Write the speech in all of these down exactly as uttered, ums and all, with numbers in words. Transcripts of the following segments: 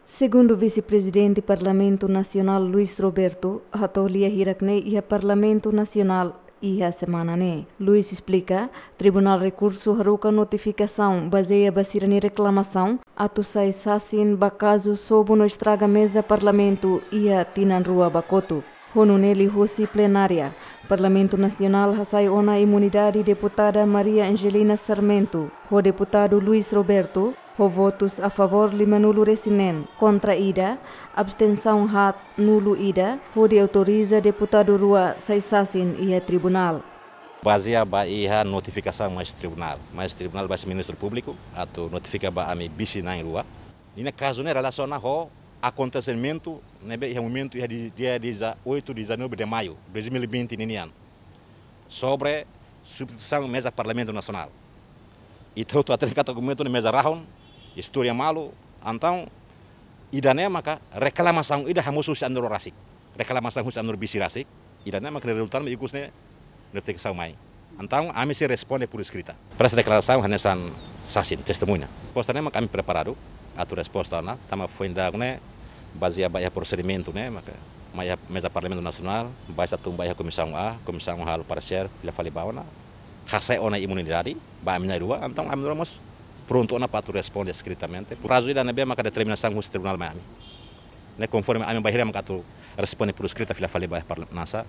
Segundu Vise-Prezidente Parlamentu Nasionál Luis Roberto hato'o lia hirak ne'e iha Parlamentu Nasionál iha semana ne'e. Luis esplika, Tribunál Rekursu haruka notifikasaun bazeia ba sira-nia reklamasaun atu sai sasin ba kazu sobu no estraga meza Parlamentu iha tinan rua ba kotuk. Ho nune'e liuhusi plenária, Parlamentu Nasionál hasai ona imunidade deputada Maria Angelina Sarmento ho deputadu Luis Roberto, ho votus a favór lima-nulu-resin-neen, kontra ida, abstensaun haat, nulu ida, hodi autoriza deputadu rua sai sasin iha tribunál. Bazeia ba iha notifikasaun mai husi tribunál, mai husi tribunál ba husi Ministériu Públiku atu notifika ba ami vise na'in rua. Ninia kazu ne'e relasiona ho akontesimentu ne'ebé iha momentu iha di-, dia dezoito, dezanove de maio dois mil e vinte ninian, sobre substituisaun meza Parlamentu Nasionál. Ita hotu hatene katak momentu ne'e meza rahun, istória malu, entaun ida-ne'e maka reklamasaun ida hamosu husi ami-nia rua rasik. Reklamasaun husi ami-nia rua vise rasik. Ida-ne'e maka rezulta mai ikus ne'e notifikasaun mai. Entaun ami sei responde por escrita. Presta deklarasaun hanesan sasin, testemuña. Resposta ne'e maka ami preparadu atu resposta ona, tanba foin dadauk ne'e bazeia ba iha prosedimentu ne'e maka mai iha meza Parlamentu Nasionál, baixa tun ba iha Komisaun A, Komisaun A halo paresér, fila fali ba ona, hasai ona imunidade ba ami na'in rua, entaun ami na'in rua mós prontu ona para atu responde eskritamente. Prazu ida ne'ebé maka determinasaun husi tribunál mai ami. Ne'e konforme ami bainhira maka atu responde por escrita fila fali ba iha parla-, nasa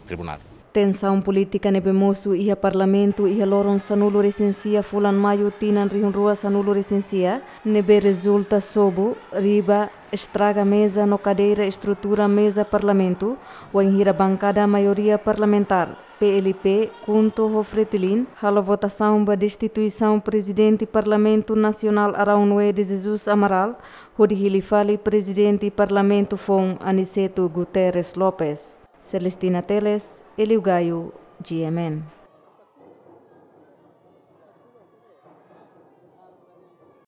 tribunál. Tensaun polítika ne'ebé mosu iha Parlamentu iha loron sanulu-resin-sia fulan Maiu tinan rihun rua sanulu-resin-sia, ne'ebé rezulta sobu, riba, estraga meza no kadeira estrutura meza Parlamentu, wainhira bankada maioria parlamentár, P L P, KHUNTO ho FRETILIN, halo votasaun ba destituisaun Prezidente Parlamentu Nasionál Araúnue de Jesus Amaral, hodi hili fali Prezidente Parlamentu foun Aniceto Guterres Lopes. Celestina Teles, Elio Gaio, G M N.